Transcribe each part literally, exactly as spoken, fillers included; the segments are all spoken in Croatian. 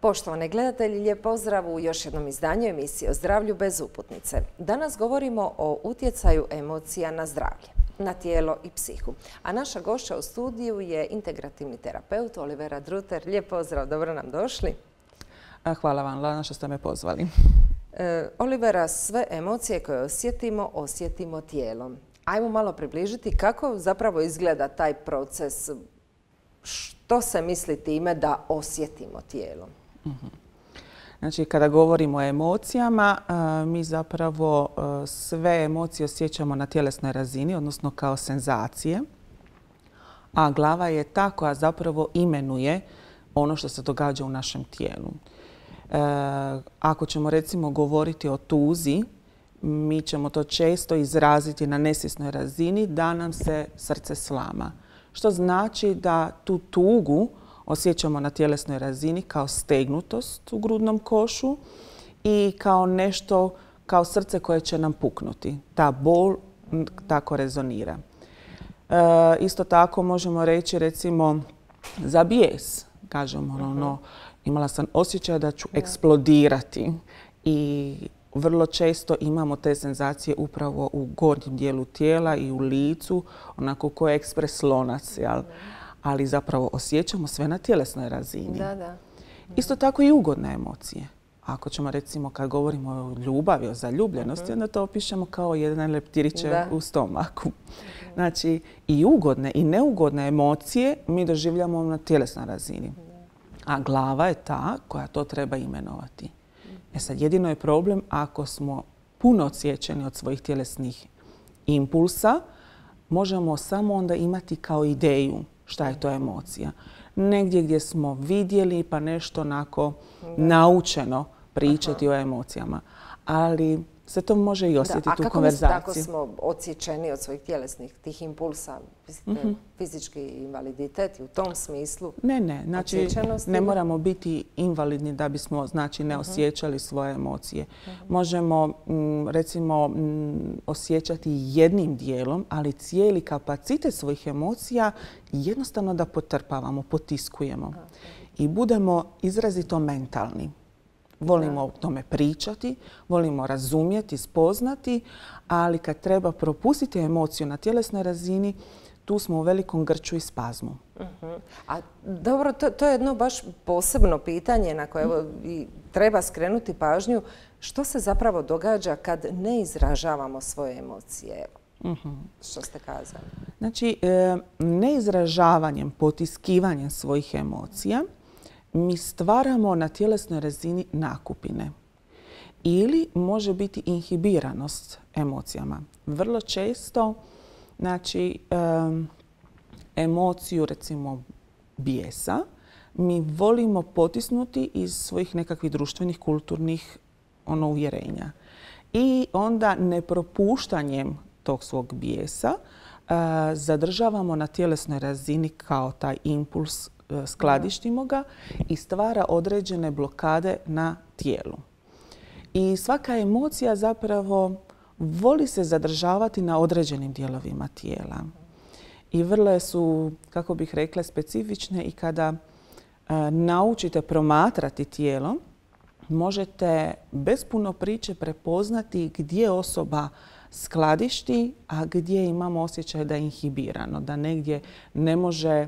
Poštovane gledatelji, lijep pozdrav u još jednom izdanju emisije o zdravlju bez uputnice. Danas govorimo o utjecaju emocija na zdravlje, na tijelo i psihu. A naša gošća u studiju je integrativni terapeut Olivera Druter. Lijep pozdrav, dobro nam došli. Hvala vam, Lana, što ste me pozvali. E, Olivera, sve emocije koje osjetimo, osjetimo tijelom. Ajmo malo približiti kako zapravo izgleda taj proces. Što se misli time da osjetimo tijelom? Znači, kada govorimo o emocijama, mi zapravo sve emocije osjećamo na tjelesnoj razini, odnosno kao senzacije. A glava je ta koja zapravo imenuje ono što se događa u našem tijelu. Ako ćemo recimo govoriti o tuzi, mi ćemo to često izraziti na nesvjesnoj razini da nam se srce slama. Što znači da tu tugu osjećamo na tjelesnoj razini kao stegnutost u grudnom košu i kao nešto, kao srce koje će nam puknuti. Ta bol tako rezonira. E, isto tako možemo reći recimo za bijes. Kažemo ono, no, imala sam osjećaj da ću eksplodirati i vrlo često imamo te senzacije upravo u gornjem dijelu tijela i u licu, onako ko je ekspres lonac, jel? Ali zapravo osjećamo sve na tjelesnoj razini. Da, da. Isto tako i ugodne emocije. Ako ćemo recimo kad govorimo o ljubavi, o zaljubljenosti, onda to opišemo kao jedan leptiriće u stomaku. Znači i ugodne i neugodne emocije mi doživljamo na tjelesnoj razini. A glava je ta koja to treba imenovati. E sad, jedino je problem ako smo puno odsječeni od svojih tjelesnih impulsa, možemo samo onda imati kao ideju šta je to emocija. Negdje gdje smo vidjeli pa nešto onako naučeno pričati o emocijama. Ali se to može i osjetiti u konverzaciji. A kako mislite ako smo odsječeni od svojih tjelesnih tih impulsa? Mislite fizički invaliditet i u tom smislu? Ne, ne. Znači, ne moramo biti invalidni da bismo znači, ne osjećali svoje emocije. Možemo recimo osjećati jednim dijelom, ali cijeli kapacitet svojih emocija jednostavno da potrpavamo, potiskujemo. I budemo izrazito mentalni. Volimo o tome pričati, volimo razumjeti, spoznati, ali kad treba propustiti emociju na tjelesnoj razini, tu smo u velikom grču i spazmu. Uh-huh. A dobro, to, to je jedno baš posebno pitanje na koje evo, i treba skrenuti pažnju. Što se zapravo događa kad ne izražavamo svoje emocije? Uh-huh. Što ste kazali? Znači, e, neizražavanjem, potiskivanjem svojih emocija, mi stvaramo na tjelesnoj razini nakupine. Ili može biti inhibiranost emocijama. Vrlo često, znači, um, emociju, recimo, bijesa, mi volimo potisnuti iz svojih nekakvih društvenih, kulturnih ono, uvjerenja. I onda nepropuštanjem tog svog bijesa uh, zadržavamo na tjelesnoj razini kao taj impuls, skladištimo ga i stvara određene blokade na tijelu. I svaka emocija zapravo voli se zadržavati na određenim dijelovima tijela. I vrlo su, kako bih rekla, specifične i kada uh, naučite promatrati tijelo, možete bez puno priče prepoznati gdje osoba skladišti, a gdje imamo osjećaj da je inhibirano, da negdje ne može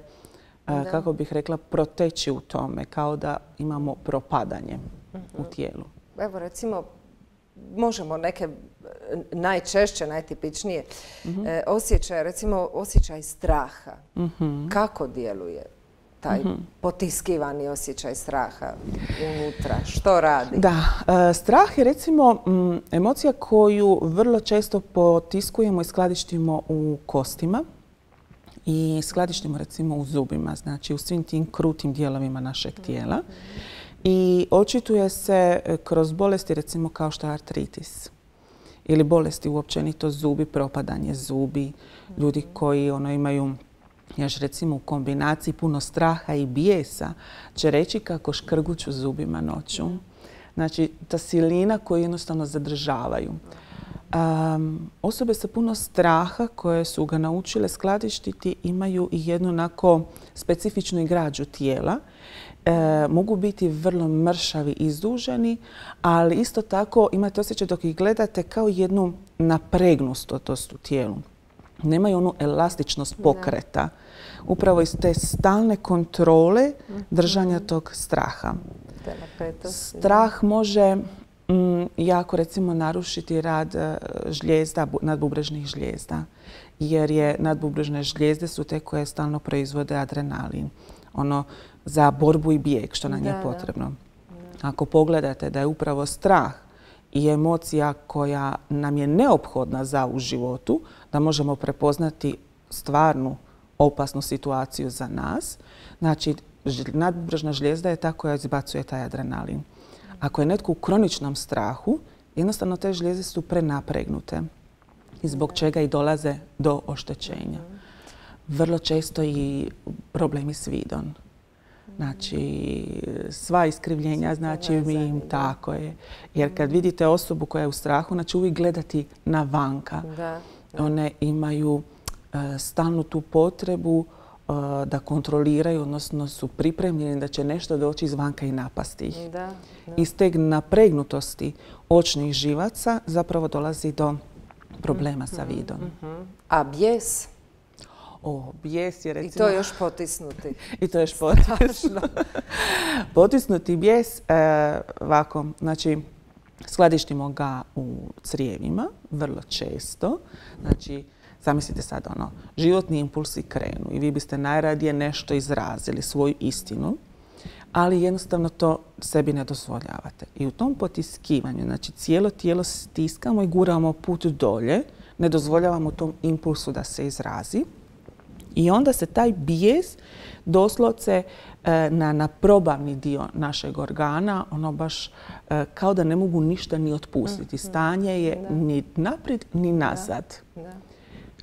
Da. kako bih rekla, proteći u tome, kao da imamo propadanje uh-huh. u tijelu. Evo recimo, možemo neke najčešće, najtipičnije uh-huh. e, osjećaje, recimo osjećaj straha. Uh-huh. Kako djeluje taj uh-huh. potiskivani osjećaj straha unutra? Što radi? Da, e, strah je recimo m, emocija koju vrlo često potiskujemo i skladištimo u kostima. I skladištimo recimo u zubima, znači u svim tim krutim dijelovima našeg tijela. I očituje se kroz bolesti recimo kao što je artritis. Ili bolesti uopćenito zubi, propadanje zubi. Ljudi koji ono, imaju još recimo u kombinaciji puno straha i bijesa će reći kako škrguću zubima noću. Znači ta silina koju jednostavno zadržavaju. Um, osobe sa puno straha koje su ga naučile skladištiti imaju i jednu onako specifičnu igrađu tijela E, mogu biti vrlo mršavi, izduženi, ali isto tako imate osjećaj dok ih gledate kao jednu napregnutost u tijelu. Nemaju onu elastičnost pokreta. Upravo iz te stalne kontrole držanja tog straha. Strah može mm, jako recimo narušiti rad žlijezda, nadbubrežnih žlijezda. Jer je nadbubrežne žlijezde su te koje stalno proizvode adrenalin. Ono za borbu i bijeg što nam je potrebno. Ako pogledate da je upravo strah i emocija koja nam je neophodna za u životu, da možemo prepoznati stvarnu opasnu situaciju za nas, znači nadbubrežna žlijezda je ta koja izbacuje taj adrenalin. Ako je netko u kroničnom strahu, jednostavno te žlijezde su prenapregnute i zbog čega i dolaze do oštećenja. Vrlo često i problemi s vidom. Znači, sva iskrivljenja, znači mi im tako je. Jer kad vidite osobu koja je u strahu, znači uvijek gledati na vanka. One imaju stalnu tu potrebu da kontroliraju, odnosno su pripremljeni da će nešto doći izvanka i napasti ih. Iz te napregnutosti očnih živaca zapravo dolazi do problema sa vidom. A bijes? O, bijes je recimo... I to još potisnuti. I to još potisnuti. Potisnuti bijes, ovako, znači, skladištimo ga u crijevima, vrlo često. Znači, zamislite sad ono, životni impulsi krenu i vi biste najradije nešto izrazili, svoju istinu, ali jednostavno to sebi ne dozvoljavate. I u tom potiskivanju, znači cijelo tijelo stiskamo i guramo put dolje, ne dozvoljavamo tom impulsu da se izrazi. I onda se taj bijes doslovce na, na probavni dio našeg organa, ono baš kao da ne mogu ništa ni otpustiti. Stanje je da. Ni naprijed ni nazad. Da. Da.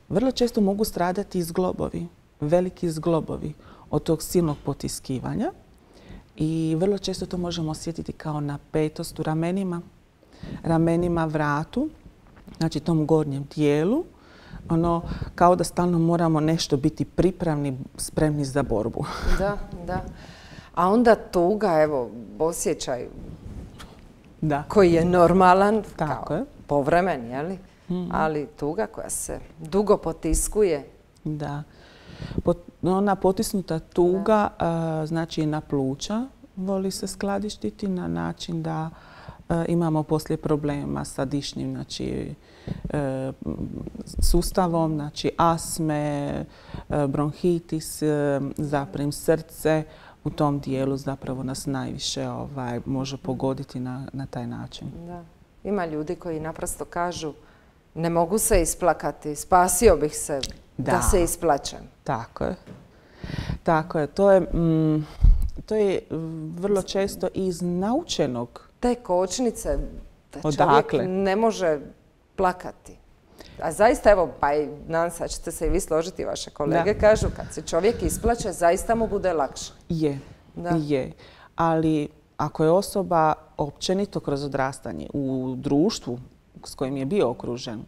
Vrlo često mogu stradati zglobovi, veliki zglobovi od tog silnog potiskivanja i vrlo često to možemo osjetiti kao napetost u ramenima, ramenima, vratu, znači tom gornjem dijelu. Ono, kao da stalno moramo nešto biti pripravni, spremni za borbu. Da, da. A onda tuga, evo, osjećaj da. Koji je normalan, tako kao je. Povremen, je li? Mm-hmm. Ali tuga koja se dugo potiskuje. Da. Pot, ona potisnuta tuga, a, znači na pluća voli se skladištiti na način da a, imamo poslije problema sa dišnim, znači, e, sustavom, znači astme, e, bronhitis, e, zaprim srce. U tom dijelu zapravo nas najviše ovaj, može pogoditi na, na taj način. Da. Ima ljudi koji naprosto kažu ne mogu se isplakati, spasio bih se da, da se isplačem. Tako je. Tako je. To je, mm, to je vrlo često iz naučenog. Te kočnice da čovjek ne može plakati. A zaista, evo, pa i nadam se da ćete se i vi složiti, vaše kolege da. Kažu kad se čovjek isplače, zaista mu bude lakše. Je, da. Je. Ali ako je osoba općenito kroz odrastanje u društvu s kojim je bio okružen,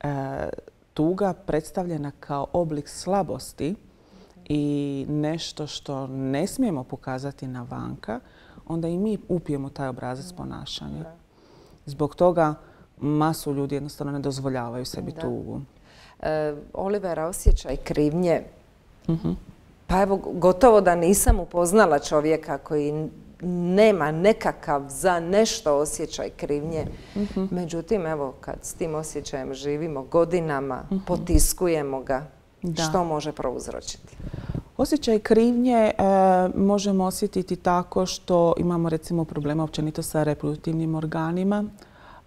e, tuga predstavljena kao oblik slabosti i nešto što ne smijemo pokazati na vanka, onda i mi upijemo taj obrazac ponašanja. Zbog toga masu ljudi jednostavno ne dozvoljavaju sebi da. Tugu. E, Olivera, osjećaj krivnje. Uh-huh. Pa evo, gotovo da nisam upoznala čovjeka koji nema nekakav za nešto osjećaj krivnje. Uh-huh. Međutim, evo, kad s tim osjećajem živimo godinama, uh-huh. potiskujemo ga, da. Što može prouzročiti? Osjećaj krivnje e, možemo osjetiti tako što imamo recimo problema općenito sa reproduktivnim organima,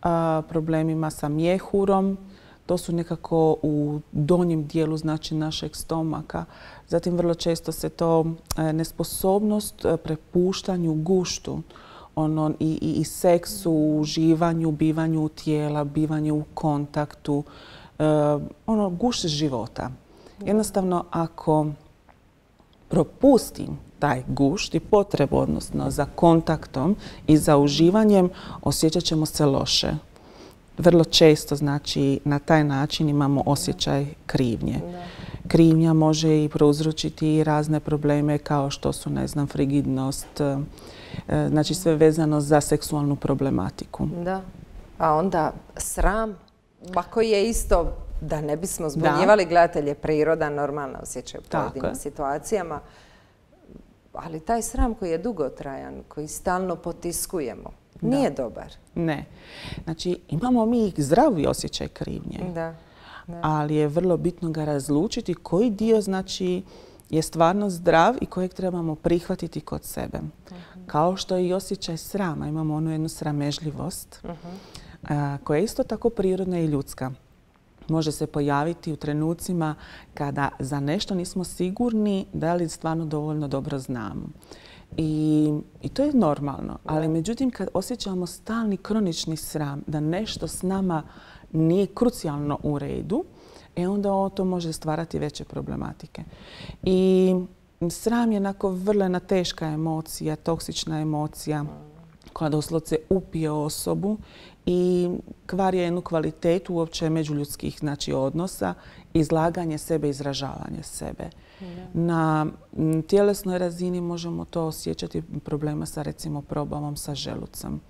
a, problemima sa mjehurom. To su nekako u donjem dijelu znači našeg stomaka. Zatim vrlo često se to e, nesposobnost prepuštanju guštu, ono, i, i, i seksu, uživanju, bivanju tijela, bivanju u kontaktu, e, ono, gušt života. Jednostavno, ako propustim taj gušt i potrebu, odnosno za kontaktom i za uživanjem, osjećat ćemo se loše. Vrlo često, znači, na taj način imamo osjećaj krivnje. krivnja može i prouzročiti razne probleme kao što su, ne znam, frigidnost, znači sve vezano za seksualnu problematiku. Da. A onda sram, ako je isto, da ne bismo zbunjivali gledatelje, priroda, normalno osjećaj u pojedinim situacijama, ali taj sram koji je dugotrajan, koji stalno potiskujemo, nije dobar. Ne. Znači, imamo mi zdravi osjećaj krivnje. Da. Ali je vrlo bitno ga razlučiti koji dio, znači, je stvarno zdrav i kojeg trebamo prihvatiti kod sebe. Uh-huh. Kao što je i osjećaj srama. Imamo onu jednu sramežljivost uh-huh. koja je isto tako prirodna i ljudska. Može se pojaviti u trenucima kada za nešto nismo sigurni da li stvarno dovoljno dobro znamo. I, i to je normalno. Ali međutim, kad osjećamo stalni kronični sram da nešto s nama nije krucijalno u redu, e onda to može stvarati veće problematike. I sram je onako vrlo jedna teška emocija, toksična emocija koja doslovce upije osobu i kvari jednu kvalitetu uopće međuljudskih, znači, odnosa, izlaganje sebe, izražavanje sebe. Na tjelesnoj razini možemo to osjećati problema sa, recimo, probavom sa želucem.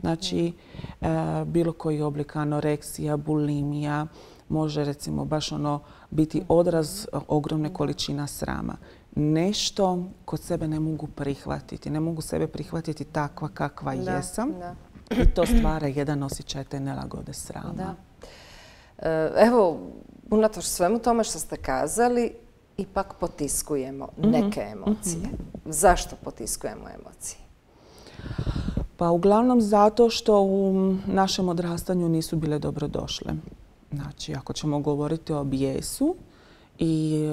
Znači, e, bilo koji oblik anoreksija, bulimija, može, recimo, baš ono biti odraz ogromne količina srama. Nešto kod sebe ne mogu prihvatiti. Ne mogu sebe prihvatiti takva kakva da, jesam. Da. I to stvara jedan osjećaj te nelagode srama. Da. E, evo, unatoč svemu tome što ste kazali, ipak potiskujemo neke emocije. Mm-hmm. Zašto potiskujemo emocije? Pa uglavnom zato što u našem odrastanju nisu bile dobrodošle. Znači, ako ćemo govoriti o bijesu, i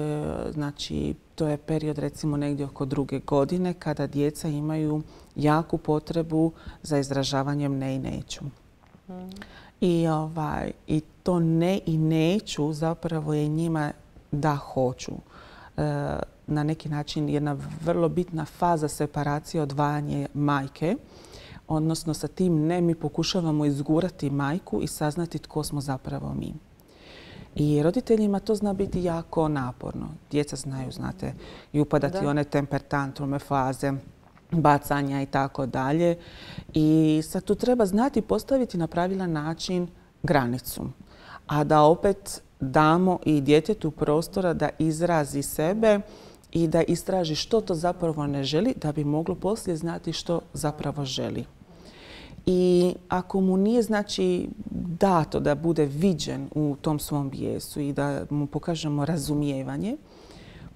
znači to je period, recimo, negdje oko druge godine kada djeca imaju jaku potrebu za izražavanjem ne i neću. Mm. I, ovaj, i to ne i neću zapravo je njima da hoću. E, na neki način jedna vrlo bitna faza separacije, odvajanje majke. Odnosno, sa tim ne mi pokušavamo izgurati majku i saznati tko smo zapravo mi. I roditeljima to zna biti jako naporno. Djeca znaju, znate, i upadati one temper tantrume, faze, bacanja i tako dalje. I sad tu treba znati postaviti na pravilan način granicu. A da opet damo i djetetu prostora da izrazi sebe i da istraži što to zapravo ne želi, da bi moglo poslije znati što zapravo želi. I ako mu nije, znači, dato da bude viđen u tom svom bijesu i da mu pokažemo razumijevanje,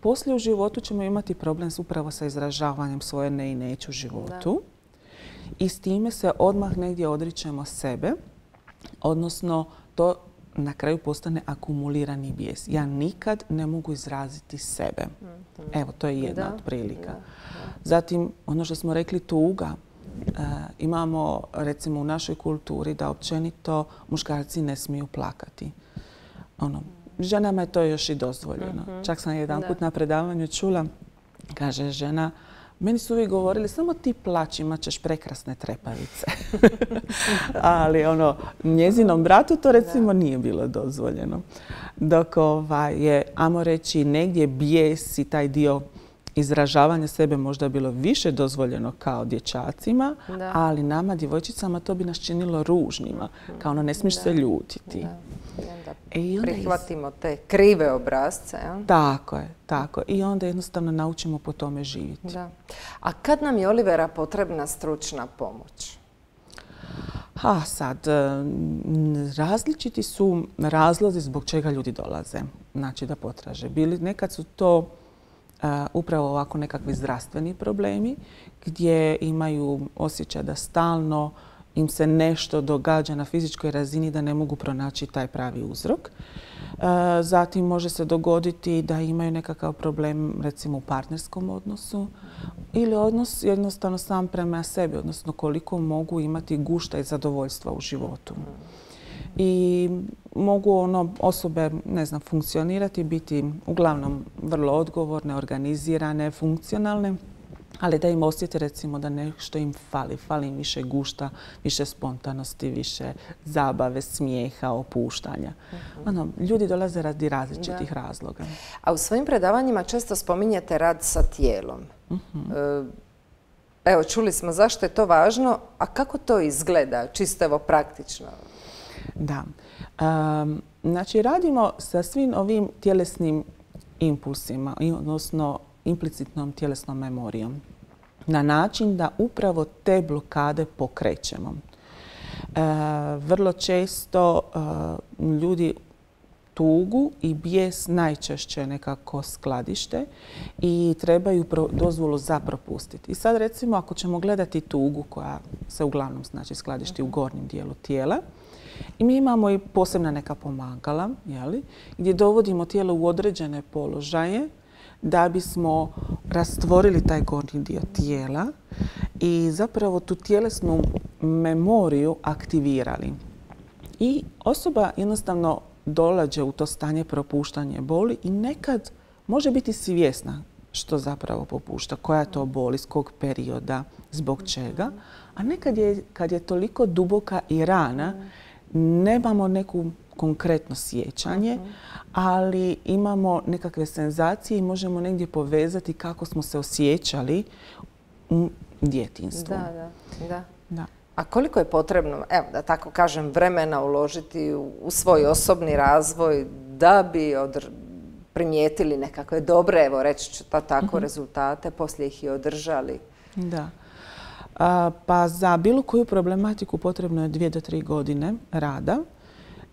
poslije u životu ćemo imati problem upravo sa izražavanjem svoje ne i neću u životu. Da. I s time se odmah negdje odričemo sebe, odnosno to na kraju postane akumulirani bijes. Ja nikad ne mogu izraziti sebe. Mm-hmm. Evo, to je jedna da. od prilika. Da. Da. Zatim, ono što smo rekli, tuga. E, imamo, recimo, u našoj kulturi da općenito muškarci ne smiju plakati. Ono, ženama je to još i dozvoljeno. Mm-hmm. Čak sam jedan put na predavanju čula, kaže žena, meni su uvijek govorili, samo ti plaći, imat ćeš prekrasne trepavice. Ali ono, njezinom bratu to, recimo, nije bilo dozvoljeno. Dok ovaj, je, ajmo reći, negdje bijes i taj dio izražavanja sebe možda bilo više dozvoljeno kao dječacima, da. ali nama, djevojčicama, to bi nas činilo ružnima. Kao ono, ne smiješ da. se ljutiti. Da. I onda prihvatimo te krive obrazce. Ja? Tako je, tako. I onda jednostavno naučimo po tome živjeti. Da. A kad nam je, Olivera, potrebna stručna pomoć? A sad, različiti su razlozi zbog čega ljudi dolaze. Znači da potraže. Bili, nekad su to Uh, upravo ovako nekakvi zdravstveni problemi gdje imaju osjećaj da stalno im se nešto događa na fizičkoj razini da ne mogu pronaći taj pravi uzrok. Uh, zatim može se dogoditi da imaju nekakav problem, recimo, u partnerskom odnosu ili odnos jednostavno sam prema sebi, odnosno koliko mogu imati gušta i zadovoljstva u životu. I mogu ono, osobe, ne znam, funkcionirati, biti uglavnom vrlo odgovorne, organizirane, funkcionalne, ali da im osjete recimo da nešto im fali. Fali im više gušta, više spontanosti, više zabave, smijeha, opuštanja. Uh-huh. Ono, ljudi dolaze radi različitih da. razloga. A u svojim predavanjima često spominjete rad sa tijelom. Uh-huh. Evo, čuli smo zašto je to važno, a kako to izgleda, čisto evo praktično? Da. Um, znači, radimo sa svim ovim tjelesnim impulsima, odnosno implicitnom tjelesnom memorijom, na način da upravo te blokade pokrećemo. E, vrlo često e, ljudi tugu i bijes najčešće nekako skladište i trebaju pro, dozvolu za propustiti. I sad recimo ako ćemo gledati tugu koja se uglavnom znači skladišti u gornjem dijelu tijela, i mi imamo i posebna neka pomagala, jeli, gdje dovodimo tijelo u određene položaje da bismo rastvorili taj gornji dio tijela i zapravo tu tjelesnu memoriju aktivirali. I osoba jednostavno dolađe u to stanje propuštanja boli i nekad može biti svjesna što zapravo popušta, koja je to bol, iz kog perioda, zbog čega. A nekad je, kad je toliko duboka i rana, nemamo neku konkretno sjećanje, ali imamo nekakve senzacije i možemo negdje povezati kako smo se osjećali u djetinjstvu. Da, da, da. da. A koliko je potrebno, evo da tako kažem, vremena uložiti u, u svoj osobni razvoj da bi odr primijetili nekakve dobre, evo reći ću to tako, uh-huh. rezultate, poslije ih i održali? Da. A, pa za bilo koju problematiku potrebno je dvije do tri godine rada,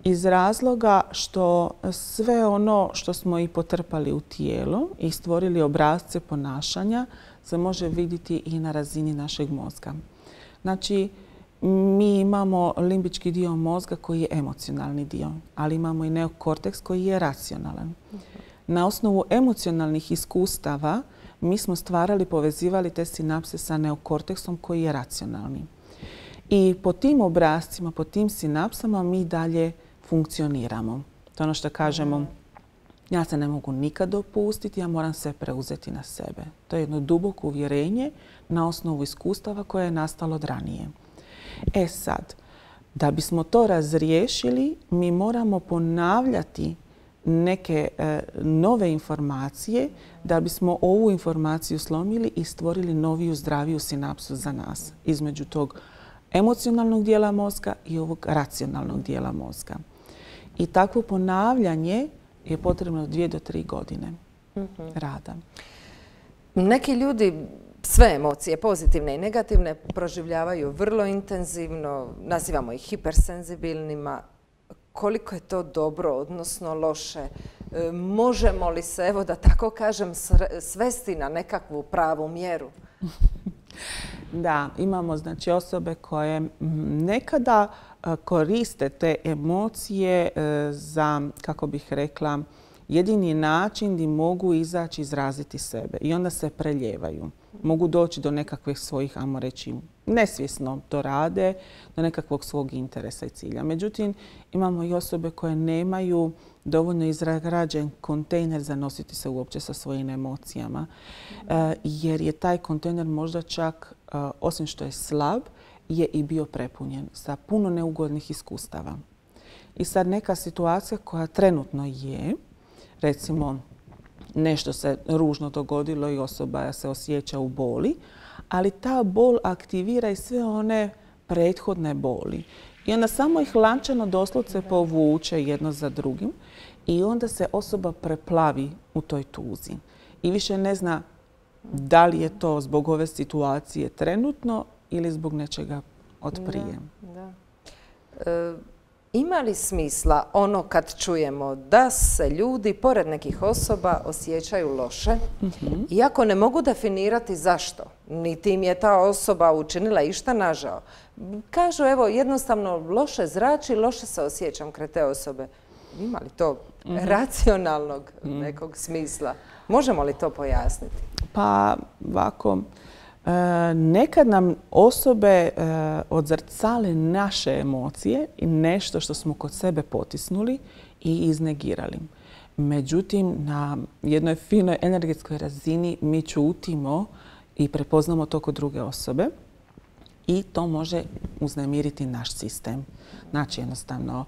iz razloga što sve ono što smo i potrpali u tijelo i stvorili obrasce ponašanja se može vidjeti i na razini našeg mozga. Znači, mi imamo limbički dio mozga koji je emocionalni dio, ali imamo i neokorteks koji je racionalan. Na osnovu emocionalnih iskustava mi smo stvarali, povezivali te sinapse sa neokorteksom koji je racionalni. I po tim obrascima, po tim sinapsama mi dalje funkcioniramo. To je ono što kažemo, ja se ne mogu nikad dopustiti, ja moram sve preuzeti na sebe. To je jedno duboko uvjerenje na osnovu iskustava koje je nastalo od ranije. E sad, da bismo to razriješili, mi moramo ponavljati neke e, nove informacije da bismo ovu informaciju slomili i stvorili noviju, zdraviju sinapsu za nas između tog emocionalnog dijela mozga i ovog racionalnog dijela mozga. I takvo ponavljanje je potrebno dvije do tri godine mm-hmm. rada. Neki ljudi sve emocije, pozitivne i negativne, proživljavaju vrlo intenzivno, nazivamo ih hipersenzibilnima. Koliko je to dobro, odnosno loše? E, možemo li se, evo da tako kažem, svesti na nekakvu pravu mjeru? Da, imamo znači osobe koje nekada koriste te emocije za, kako bih rekla, jedini način gdje mogu izaći, izraziti sebe i onda se preljevaju. Mogu doći do nekakvih svojih, ajmo reći, nesvjesno to rade, do nekakvog svog interesa i cilja. Međutim, imamo i osobe koje nemaju dovoljno izrađen kontejner za nositi se uopće sa svojim emocijama, jer je taj kontejner možda čak, osim što je slab, je i bio prepunjen sa puno neugodnih iskustava. I sad neka situacija koja trenutno je, recimo nešto se ružno dogodilo i osoba se osjeća u boli, ali ta bol aktivira i sve one prethodne boli. I onda samo ih lančano doslovce povuče jedno za drugim i onda se osoba preplavi u toj tuzi. I više ne zna da li je to zbog ove situacije trenutno ili zbog nečega od prije. Da, da. E, ima li smisla ono kad čujemo da se ljudi pored nekih osoba osjećaju loše, mm-hmm. iako ne mogu definirati zašto, niti im je ta osoba učinila išta nažao. Kažu, evo, jednostavno loše zrači, loše se osjećam kraj te osobe. Ima li to mm-hmm. racionalnog mm-hmm. nekog smisla? Možemo li to pojasniti? Pa, ovako, e, nekad nam osobe e, odzrcale naše emocije i nešto što smo kod sebe potisnuli i iznegirali. Međutim, na jednoj finoj energetskoj razini mi ćutimo i prepoznamo to kod druge osobe i to može uznemiriti naš sistem. Znači jednostavno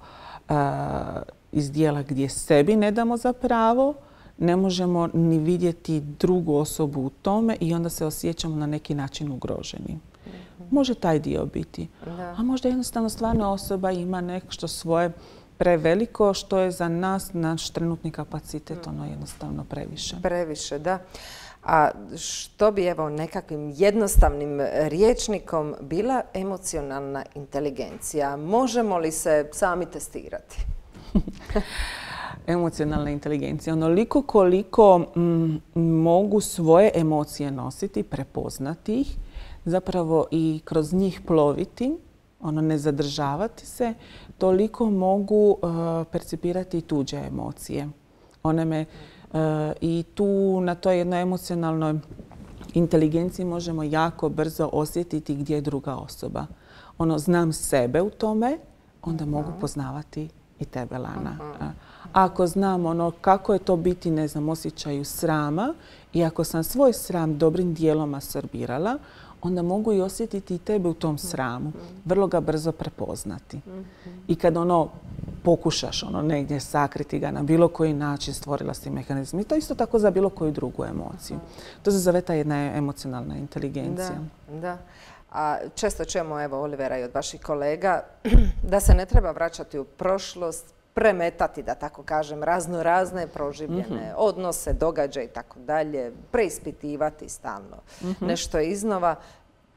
iz dijela gdje sebi ne damo za pravo, ne možemo ni vidjeti drugu osobu u tome i onda se osjećamo na neki način ugroženi. Može taj dio biti. Da. A možda jednostavno stvarno osoba ima nešto svoje preveliko što je za nas, naš trenutni kapacitet, ono jednostavno previše. Previše, da. A što bi evo nekakvim jednostavnim rječnikom bila emocionalna inteligencija? Možemo li se sami testirati? Emocionalna inteligencija. Onoliko koliko mm, mogu svoje emocije nositi, prepoznati ih, zapravo i kroz njih ploviti, ono ne zadržavati se, toliko mogu uh, percipirati tuđe emocije. One me uh, i tu na toj jednoj emocionalnoj inteligenciji možemo jako brzo osjetiti gdje je druga osoba. Ono, znam sebe u tome, onda uh-huh. mogu poznavati i tebe, Lana. Uh-huh. Ako znam ono kako je to biti, ne znam, osjećaju srama i ako sam svoj sram dobrim dijelom asorbirala, onda mogu i osjetiti i tebe u tom sramu. Vrlo ga brzo prepoznati. I kad ono pokušaš ono negdje sakriti ga na bilo koji način, stvorila si mehanizam. I to isto tako za bilo koju drugu emociju. To se zove ta jedna emocionalna inteligencija. Da, da. A često čujemo, evo, Olivera i od vaših kolega, da se ne treba vraćati u prošlost, premetati, da tako kažem, razno razne proživljene mm-hmm. odnose, događaje i tako dalje, preispitivati stalno mm-hmm. nešto iznova.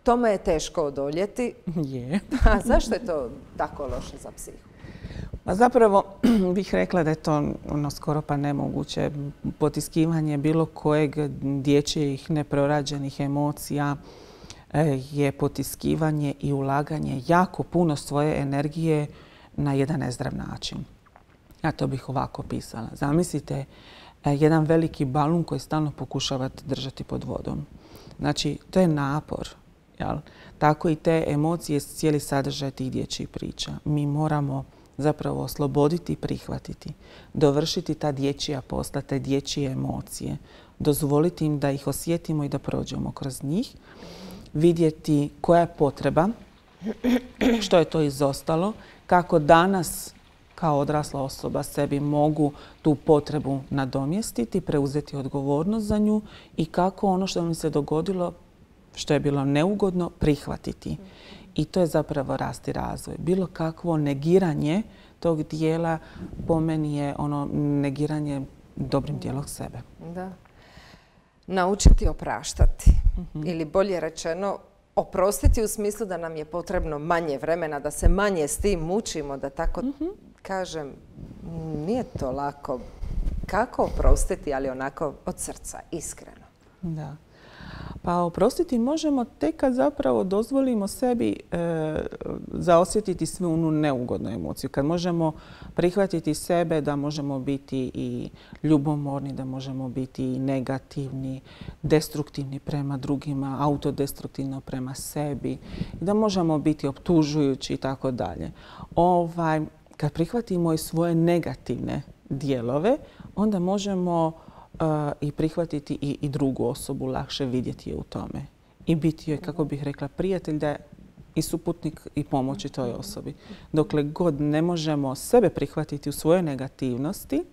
Tome je teško odoljeti. Je. A zašto je to tako loše za psihu? Pa zapravo bih rekla da je to ono skoro pa nemoguće. Potiskivanje bilo kojeg dječjih neprorađenih emocija je potiskivanje i ulaganje jako puno svoje energije na jedan nezdrav način. Ja to bih ovako pisala. Zamislite jedan veliki balun koji stalno pokušavate držati pod vodom. Znači, to je napor. Jel? Tako i te emocije, cijeli sadržaj tih dječjih priča. Mi moramo zapravo osloboditi i prihvatiti. Dovršiti ta dječja posla, te dječje emocije. Dozvoliti im da ih osjetimo i da prođemo kroz njih. Vidjeti koja je potreba, što je to izostalo, kako danas kao odrasla osoba sebi mogu tu potrebu nadomjestiti, preuzeti odgovornost za nju i kako ono što mi se dogodilo, što je bilo neugodno, prihvatiti. I to je zapravo rast i razvoj. Bilo kakvo negiranje tog dijela po meni je ono negiranje dobrim dijelom sebe. Da. Naučiti opraštati. Mm-hmm. Ili bolje rečeno, oprostiti u smislu da nam je potrebno manje vremena, da se manje s tim mučimo, da tako mm-hmm. kažem, nije to lako. Kako oprostiti, ali onako od srca, iskreno? Da. Pa oprostiti možemo tek kad zapravo dozvolimo sebi e, zaosjetiti svu onu neugodnu emociju. Kad možemo prihvatiti sebe da možemo biti i ljubomorni, da možemo biti i negativni, destruktivni prema drugima, autodestruktivno prema sebi, i da možemo biti optužujući i tako dalje. Ovaj, kad prihvatimo i svoje negativne dijelove, onda možemo Uh, i prihvatiti i, i drugu osobu, lakše vidjeti je u tome. I biti joj, kako bih rekla, prijatelj da je i suputnik i pomoći toj osobi. Dokle god ne možemo sebe prihvatiti u svojoj negativnosti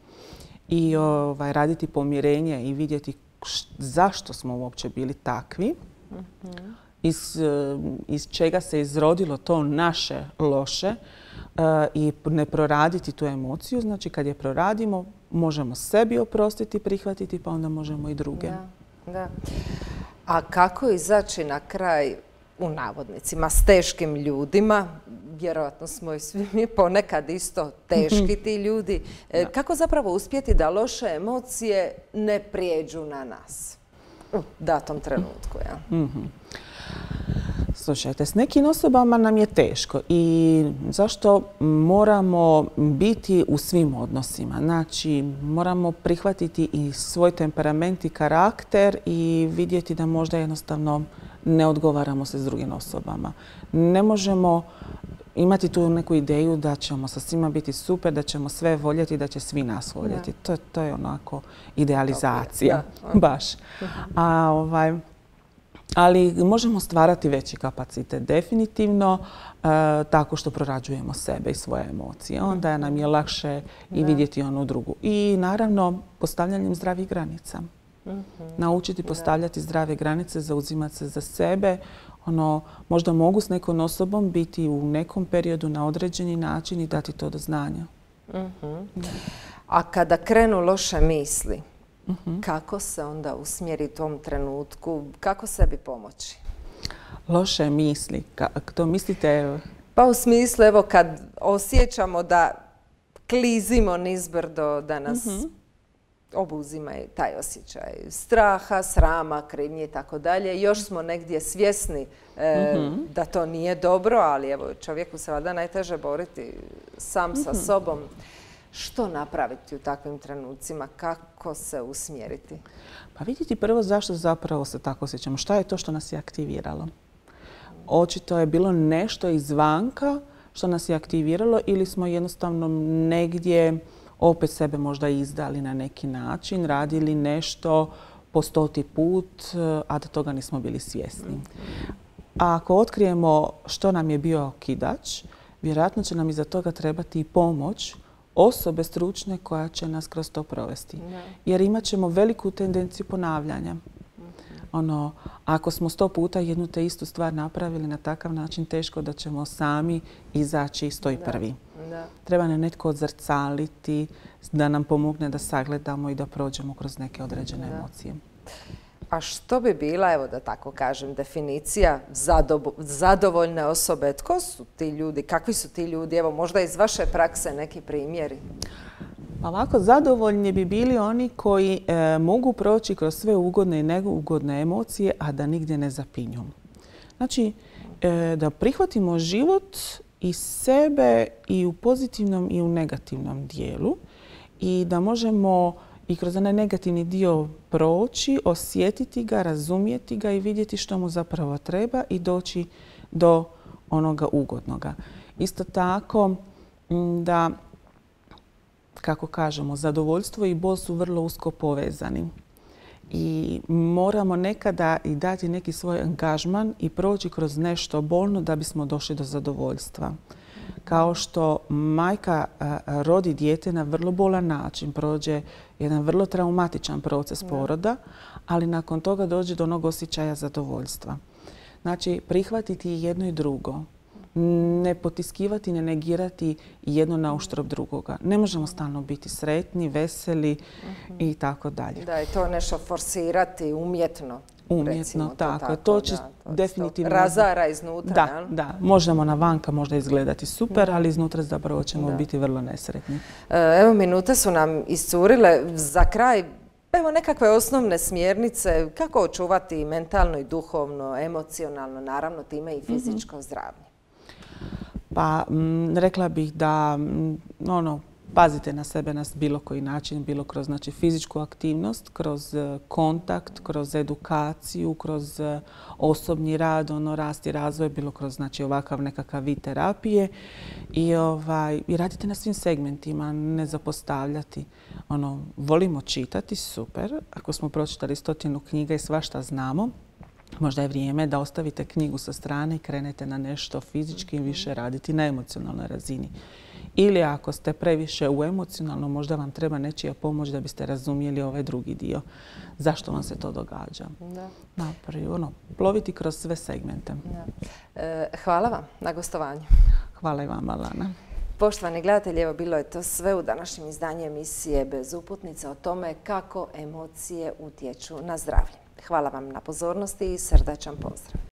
i ovaj, raditi pomirenje i vidjeti š, zašto smo uopće bili takvi, mm-hmm. iz, iz čega se izrodilo to naše loše uh, i ne proraditi tu emociju. Znači, kad je proradimo, možemo sebi oprostiti, prihvatiti, pa onda možemo i druge. Da, da. A kako izaći na kraj, u navodnicima, s teškim ljudima? Vjerojatno smo i svi mi ponekad isto teški ti ljudi. E, kako zapravo uspjeti da loše emocije ne prijeđu na nas u datom trenutku? Ja? Mm-hmm. Slušajte, s nekim osobama nam je teško i zašto moramo biti u svim odnosima. Znači, moramo prihvatiti i svoj temperament i karakter i vidjeti da možda jednostavno ne odgovaramo se s drugim osobama. Ne možemo imati tu neku ideju da ćemo sa svima biti super, da ćemo sve voljeti, da će svi nas voljeti. To, to je onako idealizacija, baš. A ovaj... Ali možemo stvarati veći kapacitet definitivno e, tako što prorađujemo sebe i svoje emocije. Onda nam je lakše i vidjeti onu drugu. I naravno postavljanjem zdravih granica. Mm-hmm. Naučiti postavljati zdrave granice, zauzimati se za sebe. Ono, možda mogu s nekom osobom biti u nekom periodu na određeni način i dati to do znanja. Mm-hmm. A kada krenu loše misli, mm-hmm. kako se onda usmjeriti u tom trenutku? Kako sebi pomoći? Loše misli? Kako to mislite? Pa u smislu, evo, kad osjećamo da klizimo nizbrdo, da nas mm-hmm. obuzima taj osjećaj straha, srama, krivnje i tako dalje. Još smo negdje svjesni e, mm-hmm. da to nije dobro, ali evo, čovjeku se valjda najteže boriti sam mm-hmm. sa sobom. Što napraviti u takvim trenucima? Kako se usmjeriti? Pa vidjeti prvo zašto zapravo se tako osjećamo. Šta je to što nas je aktiviralo? Očito je bilo nešto izvanka što nas je aktiviralo ili smo jednostavno negdje opet sebe možda izdali na neki način, radili nešto po stoti put, a da toga nismo bili svjesni. A ako otkrijemo što nam je bio okidač, vjerojatno će nam iza toga trebati i pomoć osobe stručne koja će nas kroz to provesti. Jer imat ćemo veliku tendenciju ponavljanja. Ono, ako smo sto puta jednu te istu stvar napravili na takav način, teško da ćemo sami izaći iz toj prvi. Da. Treba nam netko odzrcaliti, da nam pomogne da sagledamo i da prođemo kroz neke određene da. emocije. A što bi bila, evo da tako kažem, definicija zadovoljne osobe? Tko su ti ljudi? Kakvi su ti ljudi? Evo, možda iz vaše prakse neki primjeri. Ovako, zadovoljni bi bili oni koji e, mogu proći kroz sve ugodne i neugodne emocije, a da nigdje ne zapinju. Znači, e, da prihvatimo život i sebe i u pozitivnom i u negativnom dijelu i da možemo i kroz onaj negativni dio proći, osjetiti ga, razumjeti ga i vidjeti što mu zapravo treba i doći do onoga ugodnoga. Isto tako da, kako kažemo, zadovoljstvo i bol su vrlo usko povezani. I moramo nekada i dati neki svoj angažman i proći kroz nešto bolno da bismo došli do zadovoljstva. Kao što majka rodi dijete na vrlo bolan način, prođe jedan vrlo traumatičan proces poroda, ali nakon toga dođe do onog osjećaja zadovoljstva. Znači, prihvatiti jedno i drugo. Ne potiskivati, ne negirati jedno na uštrb drugoga. Ne možemo stalno biti sretni, veseli uh-huh. i tako dalje. Da, i to nešto forsirati umjetno. Umjetno, tako. tako. To će da, to definitivno... razara iznutra. Da, jel? da. Možemo na vanka možda izgledati super, ali iznutra zapravo ćemo da. biti vrlo nesretni. Evo, minute su nam iscurile. Za kraj, evo nekakve osnovne smjernice kako očuvati mentalno i duhovno, emocionalno, naravno time i fizičko mm-hmm. zdravlje. Pa m, rekla bih da m, ono, pazite na sebe na bilo koji način, bilo kroz znači, fizičku aktivnost, kroz kontakt, kroz edukaciju, kroz osobni rad, ono, rast i razvoj, bilo kroz znači, ovakav nekakav vid terapije. I, ovaj, i radite na svim segmentima, ne zapostavljati. Ono, volimo čitati, super. Ako smo pročitali stotinu knjiga i svašta znamo, možda je vrijeme da ostavite knjigu sa strane i krenete na nešto fizički više raditi na emocionalnoj razini. Ili ako ste previše u emocionalno, možda vam treba nečija pomoć da biste razumjeli ovaj drugi dio. Zašto vam se to događa? Da. Napravi, ono, ploviti kroz sve segmente. Da. E, hvala vam na gostovanju. Hvala i vama, Lana. Poštovani gledatelji, evo bilo je to sve u današnjem izdanju emisije Bez uputnice o tome kako emocije utječu na zdravlje. Hvala vam na pozornosti i srdačan pozdrav.